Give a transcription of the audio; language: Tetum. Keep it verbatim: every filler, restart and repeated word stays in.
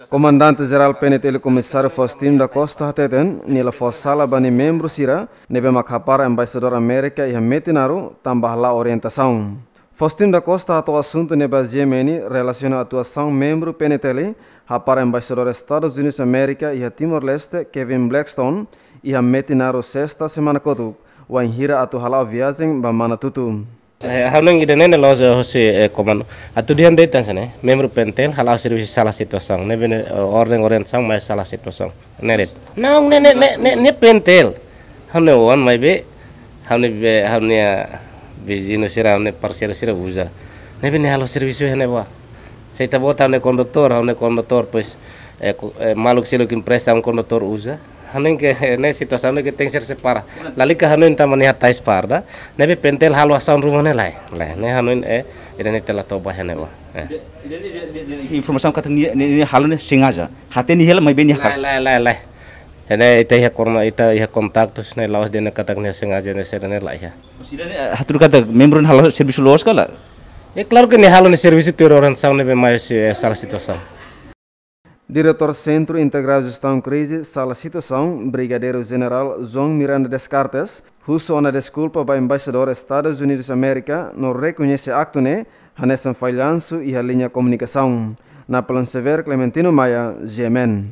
Komandante Jerál P N T L Komisáriu Faustino da Costa hateten, nia la fó sala ba nia membru sira ne'ebé mak hapara embaixadór Amérika iha Metinaro tanba hala'o orientasaun. Faustino da Costa hato'o asuntu ne'e ba G M N relasiona atuasaun membru P N T L hapara embaixadór Estadus Unidus Amérika iha Timor-Leste, Kevin Blackstone, iha Metinaro sesta semana kotuk, wainhira atu hala'o viajen ba Manatutu. Eh, ha'u hanoin ida-ne'e ne'e la'ós hosi, eh, komandu. Atu dehan de'it hanesan ne'e, membru P N T L hala'o servisu sala situasaun. Ne'ebé ne'e, eh, orden orientasaun mai sala situasaun. Ne'e de'it. Não, ne'e, ne'e, ne'e, ne'e, ne'e P N T L. Ha'u-nia oan maibé, ha'u-nia be, ha'u-nia, ah, viziñu sira, ha'u-nia parseiru sira uza. Ne'ebé nia halo servisu iha ne'ebá. Se ita-boot ha'u-nia kondutór, ha'u-nia kondutór, pois, eh, ku-, eh, maluk seluk empresta um kondutór uza. Hanoin ke, eh, ne'e situasaun ne'e ke tenke ser separa. Lalika hanoin tanba nia hatais farda. Ne'ebé P N T L halo asaun ruma ne'e lae. Lae, ne'e hanoin, eh, ida-ne'e ita la toba iha ne'ebá. Eh. Ida-ne'e, ida-ne'e, ida-ne'e, informasaun katak nia, nia, nia halo ne'e sengaja. Hatene hela maibé nia hakarak. Lae, lae, lae, lae. Ne'e ita iha korma, ita iha kontaktus ne'e la'ós dehan katak nia sengaja ne'e sira ne'e lae iha. Mas ida-ne'e, eh, hatudu katak membru ne'e halo servisu loos ka lae? É claro que nia halo nia servisu tuir orientasaun ne'ebé mai hosi, eh, sala situasaun. Diretór Sentru Integradu Jestaun Krize, Sala Situasaun, Brigadeiru Jenerál João Miranda Descartes, husu ona deskulpa ba embaixadór Estadus Unidus Amérika no rekoñese aktu ne'e hanesan fallansu iha liña komunikasaun. Napoleon Severo, Clementino Maia, G M N.